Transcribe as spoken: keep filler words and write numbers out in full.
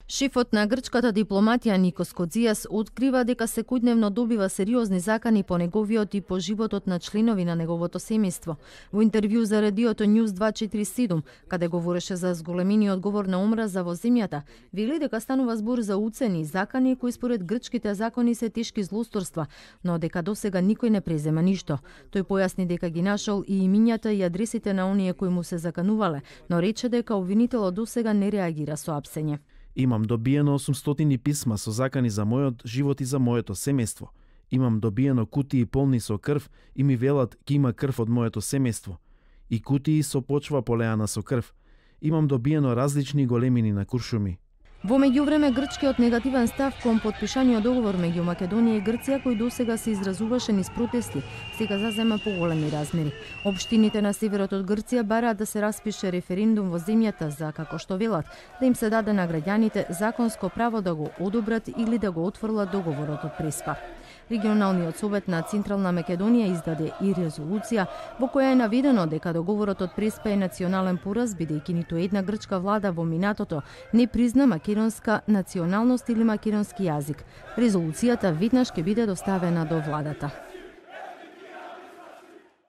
Шефот на грчката дипломатија Никос Коцијас открива дека секојдневно добива сериозни закани по неговиот и по животот на членови на неговото семејство. Во интервју за радиото News дваесет и четири седум, каде говореше за зголемениот говор на омраза во земјата, вели дека станува збор за уцени и закани кои според грчките закони се тешки злосторства, но дека досега никој не презема ништо. Тој појасни дека ги нашол и имињата и адресите на оние кои му се заканувале, но рече дека обвинителот досега не реагира со апсење. Имам добиено осумстотини писма со закани за мојот живот и за моето семејство. Имам добиено кутии полни со крв и ми велат ке има крв од моето семејство. И кутии со почва полеана со крв. Имам добиено различни големини на куршуми. Во меѓувреме, грчкиот негативен став кон потпишаниот договор меѓу Македонија и Грција, кој досега се изразуваше низ протести, сега зазема поголеми размери. Општините на северот од Грција бараат да се распише референдум во земјата за, како што велат, да им се даде на граѓаните законско право да го одобрат или да го отфрлат договорот од Преспа. Регионалниот совет на Централна Македонија издаде и резолуција во која е наведено дека договорот од Преспа е национален пораз, бидејќи ниту една грчка влада во минатото не призна македонска националност или македонски јазик. Резолуцијата веднаш ќе биде доставена до владата.